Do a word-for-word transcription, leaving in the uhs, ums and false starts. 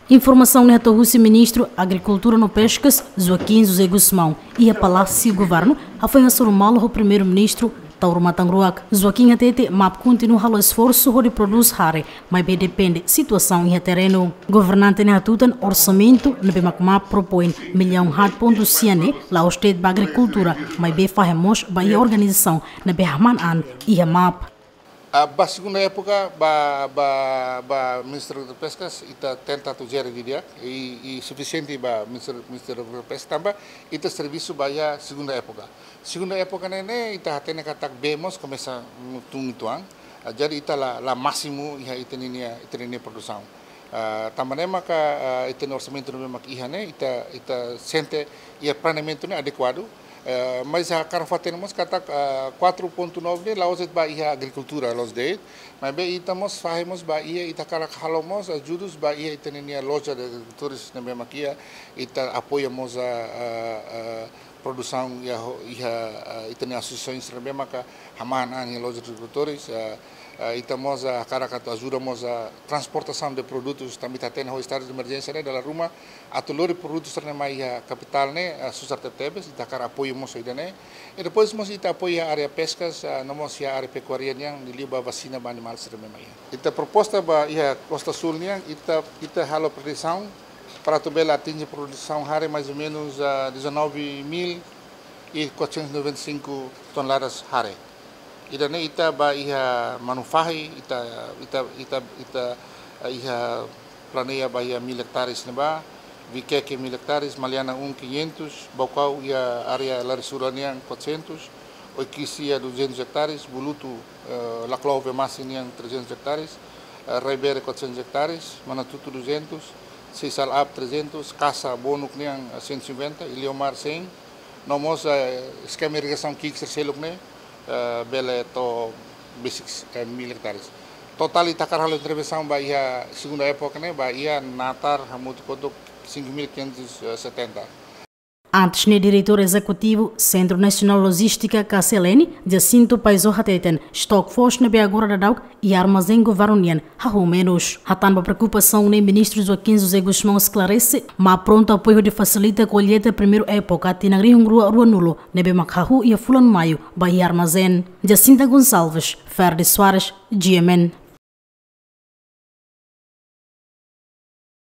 Informasaun ne'e hato'o husi Ministru Agrikultura no Peskas, Joaquim José Gusmão, iha Palásiu Governu, hafoin hasoru malu ho Primeiru-Ministru Taur Matan Ruak. Joaquim hatete, MAP kontinua halo esforsu hodi prodús hare, maibé depende situasaun iha terrenu. Governante ne'e hatutan orsamentu ne'ebé mak MAP propoin millaun haat pontu sia ne'e la'ós de'it ba agrikultura, maibé fahe mós ba iha organizasaun ne'ebé hahú an iha MAP. Ah, ba segunda época, ba, ba, ba Ministério de Pescas, ita tenta atu jere didi'ak, i, i sufisiente ba Ministério, Ministério de Pesca tanba ita servisu ba iha segunda época. Segunda época ne'e, ne'e, ita hatene katak bee mós komesa tun uitoan. Ah, jadi ita la, la másimu iha ita-nia, ita-nia produsaun. Ah, tanba ne'e maka, ah, ita-nia orsamentu ne'ebé mak iha ne'e, ita, ita sente iha planeamentu ne'e adekuadu. Eh, mas hakarak fó-hatene mós katak, ah, quatro ponto nove ne'e la'ós de'it ba iha agrikultura, la'ós de'it. Maibé ita mós fahe mós ba iha, ita hakarak halo mós ajudus ba iha ita-nia loja de agrikultores ne'ebé mak iha, ita apoia mós a, a, a produsaun iha ho-, iha, ah, ita-nia asosiasaun ne'ebé maka hahú an iha loja de agrikultores, ah, ah, ita mós, ah, hakarak atu ajuda mós a transportasaun de produtus, tanba ita hatene ho estadu de emerjénsia ne'e dala ruma atu lori produtus sira-ne'e mai iha kapitál ne'e, ah, susar tebetebes, ita hakarak apoiu mós ida-ne'e. I depois mós ita apoia área peskas, ah, no mós iha área pekuária nian, liuliu ba vasina ba animál sira-ne'e mai iha. Ita proposta ba iha Costa Sul nian, ita, ita halo predisaun para atu bele atinje produsaun hare mais ou menos, ah, dezanove mil e quatrocentos e noventa e cinco toneladas hare. Ida-ne'e ita ba iha Manufahi, ita, ita, ita, ita, ah, iha planeia ba iha mil hectares ne'ebá, Viqueque mil hectares, Maliana um quinhentos, Baucau iha área Larisura nian quatrocentos, Oiquisi iha duzentos hectares, Bulutu, eh, Laclau Vemasse nian trezentos hectares, eh, Raibere quatrocentos hectares, Manatuto duzentos, Seixal Up trezentos, Kasa Bonuk nian, eh, cento e cinquenta, Iliomar cem, no mós, eh, eskema irrigasaun ki'ik sira seluk ne'e, eh, bele to'o besik, eh, mil hectares. Totál ita hakarak halo intervensaun ba iha segunda época ne'e, ba iha natar hamutuk hotu cinco mil quinhentos e setenta. Antes ne'e, Diretór Ezekutivu Sentru Nasionál Lojístika, K C L N, Jacinto Paizo hateten, estoque foos ne'ebé agora daudaun iha armazén governu nian hahú menus. Hatán ba preokupasaun ne'e, Ministru Joaquim José Gusmão esklarese, MAP prontu apoiu hodi fasilita kolleita primeira époka tinan rihun rua ruanulu, ne'ebé mak hahú iha fulan Maiu ba iha armazén. Jacinta Gonçalves, Ferdi Soares, G M N.